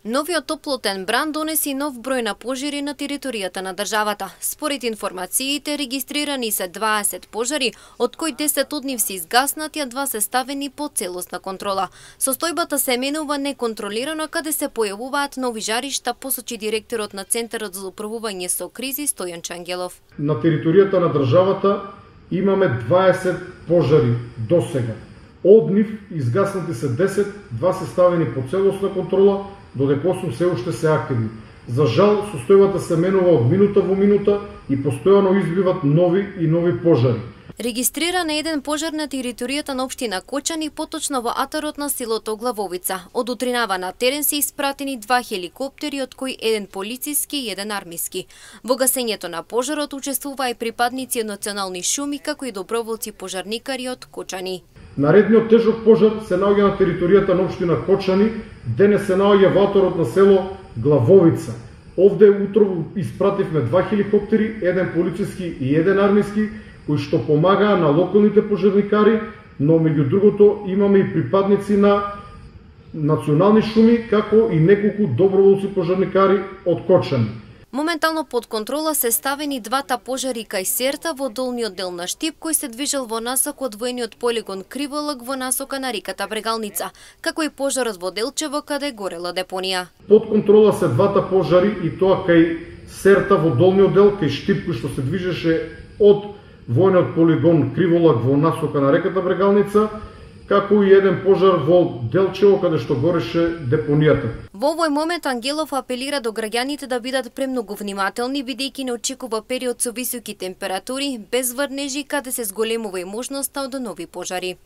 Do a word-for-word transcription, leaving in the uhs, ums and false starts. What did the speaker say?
Новиот топлотен бран донеси нов број на пожари на територијата на државата. Според информациите, регистрирани се дваесет пожари, од кои десет од нив се изгаснати, а два се ставени под целосна контрола. Состојбата се менува неконтролирано, каде се појавуваат нови жаришта, посочи директорот на Центарот за управување со кризи Стојан Чангелов. На територијата на државата имаме дваесет пожари досега. Од нив изгаснати се десет, два се ставени под целосна контрола, додека осум се уште се активни. За жал, состојбата се менува од минута во минута и постојано избиват нови и нови пожари. Регистриран е еден пожар на територијата на општина Кочани, поточно во атарот на селото Главовица. Од утринава на терен се испратени два хеликоптери, од кои еден полициски и еден армиски. Во гасењето на пожарот учествуваа и припадници од национални шуми, како и доброволци пожарникари од Кочани. Наредниот тежок пожар се наоѓа на територијата на општина Кочани, денес се наоѓа во атарот на село Главовица. Овде утрово испративме два хеликоптери, еден полициски и еден армиски, кои што помагаа на локалните пожарникари, но меѓу другото имаме и припадници на национални шуми, како и неколку доброволци пожарникари од Кочани. Моментално под контрола се ставени двата пожари кај Серта во долниот дел на Штип, кој се движел во насока од воениот полигон Криволак во насока на реката Брегалница, како и пожарот во Делчево каде горела депонија. Под контрола се двата пожари и тоа кај Серта во долниот дел, кај Штип кој што се движеше од воениот полигон Криволак во насока на реката Брегалница, како и еден пожар во Делчево каде што гореше депонијата. Во овој момент Ангелов апелира до граѓаните да бидат премногу внимателни, бидејќи не очекува период со високи температури, без врнежи, каде се зголемува и можноста од нови пожари.